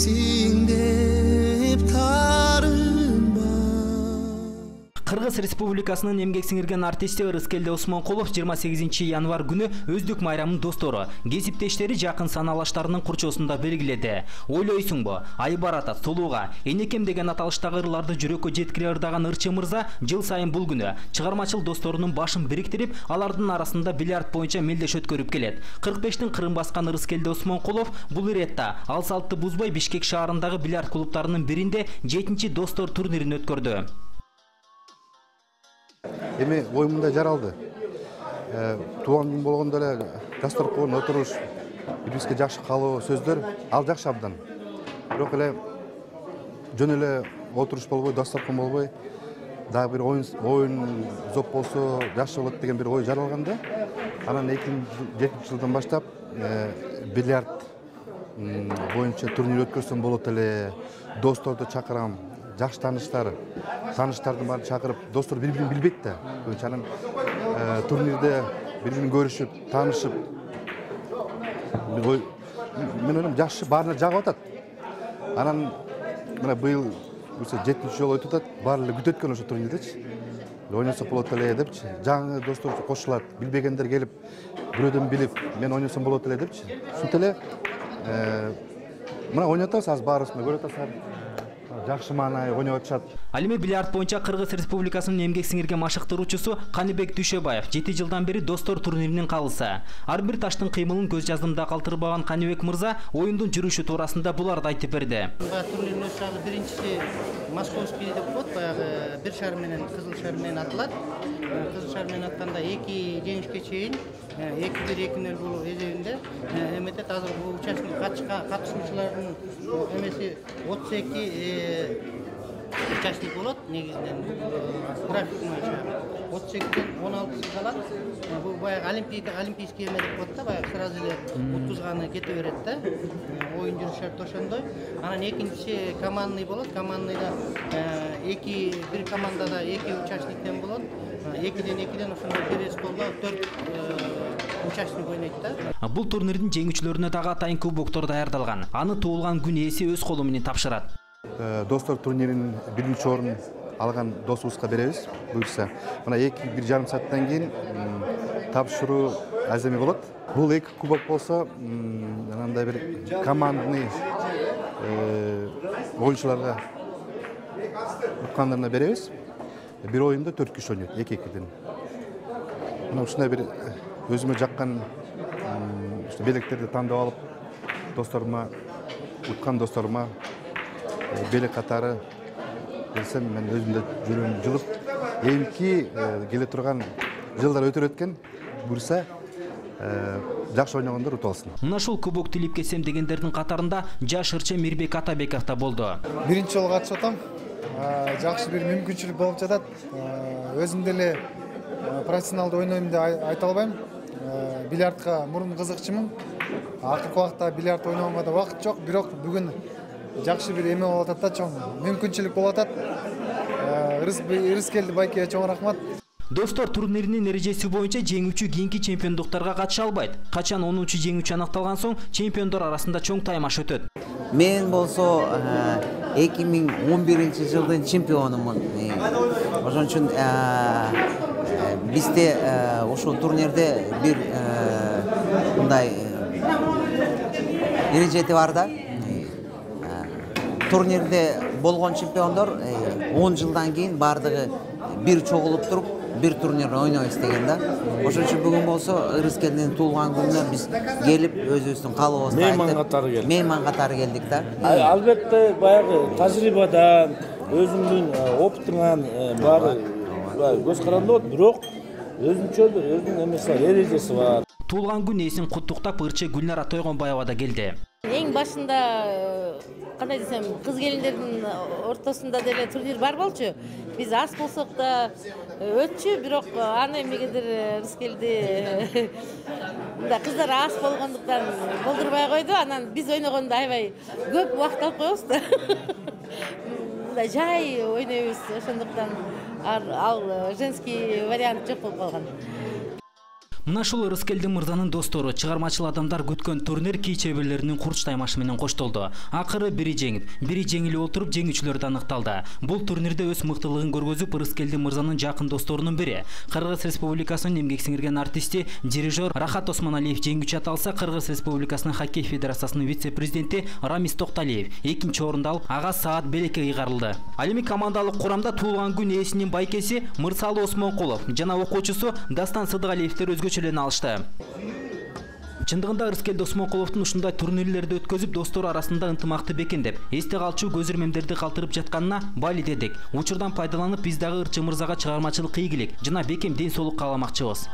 эмексиң деп тарынба. Кыргыз Республикасынын эмгек сиңирген артисти Ырыскелди Осмонкулов 28 январь күнү өздүк майрамын достору, кесиптештери, жакын саналаштарынын курчоосунда белгиледи. Ойлойсуңбу, ай баратат сулууга, энекем деген аталыштагы ырларды жүрөккө жеткире ырдаган ырчы мырза жыл сайын бул күнү чыгармачыл досторунун башын бириктирип, алардын арасында бильярд боюнча мелдеш өткөрүп келет. 45-тин кырын баскан Ырыскелди Осмонкулов бул иретта ал салтты бузбай Бишкек шаарындагы бильярд клубтарынын биринде 7-чи достор турнирин өткөрдү. Эми оюмда жаралды. Туган күн болгондо эле дасторкон отуруш, бирибизге жакшы каалоо сөздөр, ал жакшы абдан. Бирок эле жөн эле отуруш болбой, дасторкон болбой, дагы бир оюн зоп болсо жакшы болот деген бир ой жаралганда, анан 2007 жылдан баштап бильярд боюнча турнир өткөрсөм болот эле, досторду чакырам. Жакшы тааныштардын баарын чакырып, достор бири-бирин билбейт да. Анан турнирде бири-бирин көрүшүп, таанышып, мен ойлойм жакшы баарына жагып атат. Анан мына быйыл 7-чи жолу өтүп атат, баары эле күтөт экен ошо турнирдечи. Ойносок болот эле депчи. Жаңы достор кошулат, билбегендер келип, бирөөдөн билип, мен ойносом болот эле депчи. Ушинтип эле мына ойноп атабыз, азыр баарыбыз көрүп атасыздар. Жакшы маанай ойноп атышат. Ал эми бильярд боюнча Кыргыз Республикасынын эмгек сиңирген машыктыруучусу Каныбек Дүйшөбаев 7 жылдан бери достор турниринин калысы. Ар бир таштын кыймылын көз жаздымда калтырбаган Каныбек мырза оюндун жүрүшү туурасында буларды айтып берди. Турнирдин өз биринчиси Московский деп коет, баягы бир шар менен кызыл шар менен атылат. Кызыл шар менен атканда 2 жеңишке чейин 2-1-2-0 болуп эсебинде эметет. Азыр бул участник катышуучулардын эмеси 32 участник болот негизинен график боюнча 32ден 16 калат. Бул баягы олимпийский эме деп коет да, баягы сразу эле утузганы кете берет да. Оюн жүрүш шарты ошондой. Анан экинчиси командный болот. Командныйда бир командада 2 участниктен болот. 2ден ошондой бир эсколдо 4 участник ойнойт да. Бул турнирдин жеңүүчүлөрүнө дагы атайын кубоктор даярдалган. Аны туулган күн ээси өз колу менен тапшырат. Достор турниринин биринчи орун алган досубузга беребиз, буюрса. Мына 1,5 сааттан кийин тапшыруу аземи болот. Бул 2 кубок болсо, анандай бир командный оюнчуларга уккандарына беребиз. Бир оюнда 4 киши ойнойт, 2-2ден. Мына ушундай бир өзүмө жаккан белектерди тандап алып, досторума, уткан досторума белек катары берсем, мен өзүмдө жүрөгүм жылып, эмки келе турган жылдар өтөр өткөн, буюрса жакшы ойногондор утуп алсын. Мына ушул кубок тилип кетсем дегендердин катарында жаш ырчы Мирбек Атабеков да болду. Биринчи жолу катышып атам. Жакшы бир мүмкүнчүлүк болуп жатат. Өзүм деле профессионалдуу ойнойм деп айта албайм. Бильярдка мурун кызыкчумун. Акыркы убакта бильярд ойногонго да убакыт жок, бирок бүгүн жакшы бир эме болуп атат да, чоң мүмкүнчүлүк болуп атат. Ырыскелди байке чоң рахмат. Достор турниринин эрежеси боюнча жеңүүчү кийинки чемпиондуктарга катыша албайт. Качан 10-чу жеңүүчү аныкталган соң чемпиондор арасында чоң таймаш өтөт. Мен болсо 2011 жылдын чемпионумун. Ошон үчүн бизде ушул турнирде бир мындай эрежети бар да. Турнирде болгон чемпиондор 10 жылдан кийин бардыгы бир чогулуп туруп бир турнир ойнойбуз деген да. Ошон үчүн бүгүн болсо Ырыскелдин туулган күнүнө биз келип өзүбүздүн каалообузду айтып, мейман катары келдик да. Албетте баягы тажрыйбадан, өзүңдүн опытыңан баары көз каранды болот, бирок өзүнчө өзүнүн эмеси бар, эрежеси бар. Туулган күн ээсин куттуктап ырчы Гүлнара Тойгонбаева да келди. Эң башында кандай десем, кыз келиндердин ортосунда деле турнир бар болчу. Биз аз болсок да өтчү, бирок аны эмнегедир Ырыскелди мындай кыздар аз болгондуктан болдурбай койду. Анан биз ойногондо аябай көп убакыт алып коебуз да. Мындай жай ойнойбуз, ошондуктан ал женский вариант жок болуп калган. Мына ушул Рыскелди мырзанын достору, чыгармачыл адамдар күткөн турнир кий чеберлеринин курч таймашы менен коштолду. Акыры бири жеңип, бири жеңилип отуруп жеңүүчүлөр да аныкталды. Бул турнирде өз мыктылыгын көргөзүп, Рыскелди мырзанын жакын досторунун бири, Кыргыз Республикасынын эмгек сиңирген артисти, дирижер Рахат Осмоналиев жеңүүчү аталса, Кыргыз Республикасынын хоккей федерациясынын вице-президенти Рамис Токталиев экинчи орунду алып, ага Саат Белекке ыйгарылды. Ал эми командалык курамда туулган күн ээсинин байкеси Мырсалы Осмонкулов жана окуучусу Дастан Сыдыгалиевдер өзгөчөлөрүн алышты. Чындыгында Рыскелди Осмонкуловдун ушундай турнирлерди өткөзүп, достору арасында ынтымакты бекемдеп, эсте калчу көз ирмемдерди калтырып жатканына бали дедик. Учурдан пайдаланып, биз дагы Ырчы мырзага чыгармачылык ийгилик жана бекем ден соолук кааламакчыбыз.